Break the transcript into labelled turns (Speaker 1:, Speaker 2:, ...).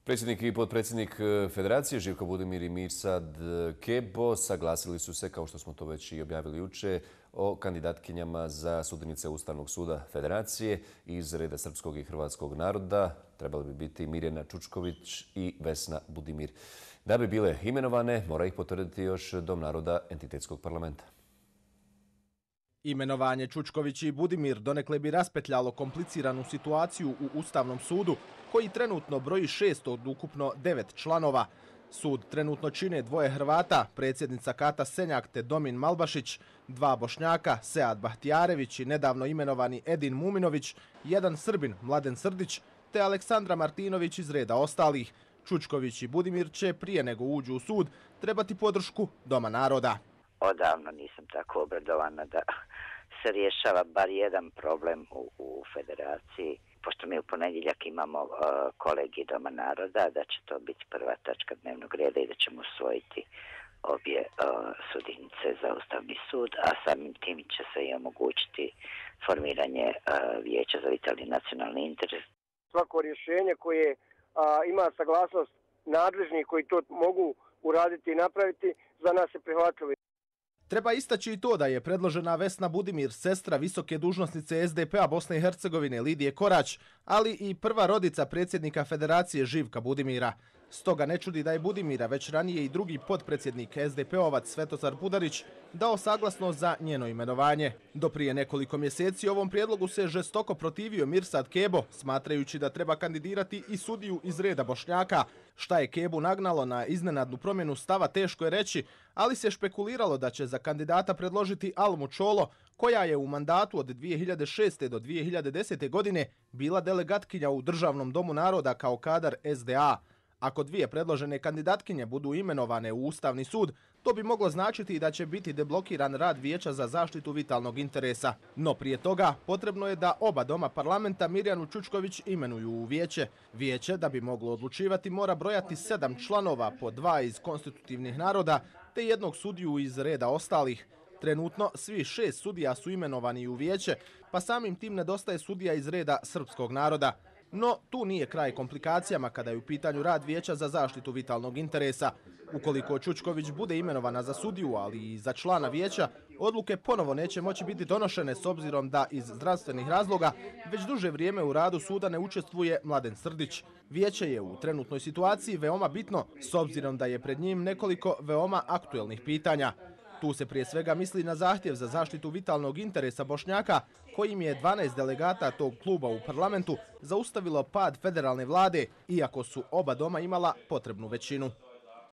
Speaker 1: Predsjednik i potpredsjednik Federacije Živko Budimir i Mirsad Kebo saglasili su se, kao što smo to već i objavili jučer, o kandidatkinjama za sudinice Ustavnog suda Federacije iz reda srpskog i hrvatskog naroda. Trebali bi biti Mirjana Čučković i Vesna Budimir. Da bi bile imenovane, mora ih potvrditi još Dom naroda entitetskog parlamenta.
Speaker 2: Imenovanje Čučković i Budimir donekle bi raspetljalo kompliciranu situaciju u Ustavnom sudu, koji trenutno broji 6 od ukupno 9 članova. Sud trenutno čine 2 Hrvata, predsjednica Kata Senjak te Domin Malbašić, 2 Bošnjaka, Sead Bahtijarević i nedavno imenovani Edin Muminović, 1 Srbin, Mladen Srdić, te Aleksandra Martinović iz reda ostalih. Čučković i Budimir će, prije nego uđu u sud, trebati podršku Doma naroda.
Speaker 3: Odavno nisam tako obradovana da se rješava bar jedan problem u Federaciji. Pošto mi u ponedjeljak imamo kolegij Doma naroda, da će to biti prva tačka dnevnog reda i da ćemo usvojiti obje sudinice za Ustavni sud, a samim tim će se i omogućiti formiranje Vijeća za vitalni nacionalni interes.
Speaker 4: Svako rješenje koje ima saglasnost nadležnih koji to mogu uraditi i napraviti, za nas je prihvatljivo.
Speaker 2: Treba istaći i to da je predložena Vesna Budimir, sestra visoke dužnosnice SDP-a Bosne i Hercegovine Lidije Korać, ali i prva rodica predsjednika Federacije Živka Budimira. Stoga ne čudi da je Budimira već ranije i drugi potpredsjednik SDP-ovac Svetozar Budarić dao saglasnost za njeno imenovanje. Do prije nekoliko mjeseci ovom prijedlogu se žestoko protivio Mirsad Kebo, smatrajući da treba kandidirati i sudiju iz reda Bošnjaka. Šta je Kebu nagnalo na iznenadnu promjenu stava teško je reći, ali se špekuliralo da će za kandidata predložiti Almu Čolo, koja je u mandatu od 2006. do 2010. godine bila delegatkinja u Državnom domu naroda kao kadar SDA. Ako 2 predložene kandidatkinje budu imenovane u Ustavni sud, to bi moglo značiti da će biti deblokiran rad Vijeća za zaštitu vitalnog interesa. No prije toga potrebno je da oba doma parlamenta Mirjanu Čučković imenuju u vijeće. Vijeće, da bi moglo odlučivati, mora brojati 7 članova, po 2 iz konstitutivnih naroda te 1 sudiju iz reda ostalih. Trenutno svi 6 sudija su imenovani u vijeće, pa samim tim nedostaje sudija iz reda srpskog naroda. No, tu nije kraj komplikacijama kada je u pitanju rad Vijeća za zaštitu vitalnog interesa. Ukoliko Čučković bude imenovana za sudiju, ali i za člana vijeća, odluke ponovo neće moći biti donošene s obzirom da iz zdravstvenih razloga već duže vrijeme u radu suda ne učestvuje Mladen Srdić. Vijeće je u trenutnoj situaciji veoma bitno s obzirom da je pred njim nekoliko veoma aktuelnih pitanja. Tu se prije svega misli na zahtjev za zaštitu vitalnog interesa Bošnjaka, kojim je 12 delegata tog kluba u parlamentu zaustavilo pad federalne vlade, iako su oba doma imala potrebnu većinu.